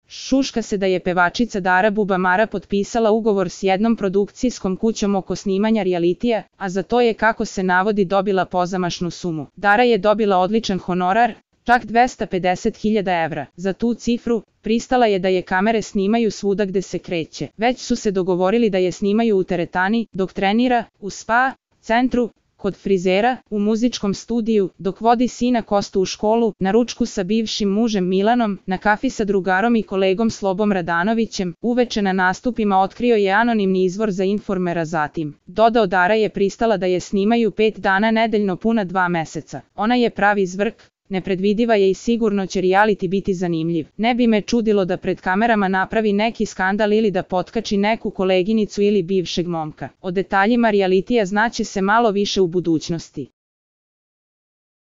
Šuška se da je pevačica Dara Bubamara potpisala ugovor s jednom produkcijskom kućom oko snimanja realitija, a za to je, kako se navodi, dobila pozamašnu sumu. Dara je dobila odličan honorar, čak 250.000 evra. Za tu cifru, pristala je da je kamere snimaju svuda gde se kreće. Već su se dogovorili da je snimaju u teretani, dok trenira, u spa centru, kod frizera, u muzičkom studiju, dok vodi sina Kostu u školu, na ručku sa bivšim mužem Milanom, na kafi sa drugarom i kolegom Slobom Radanovićem, uveče na nastupima, otkrio je anonimni izvor za Informera. Zatim dodao, Dara je pristala da je snimaju 5 dana nedeljno puna 2 meseca. Ona je pravi zvrk, nepredvidiva je i sigurno će reality biti zanimljiv. Ne bi me čudilo da pred kamerama napravi neki skandal ili da potkači neku koleginicu ili bivšeg momka. O detaljima realitija znaće se malo više u budućnosti.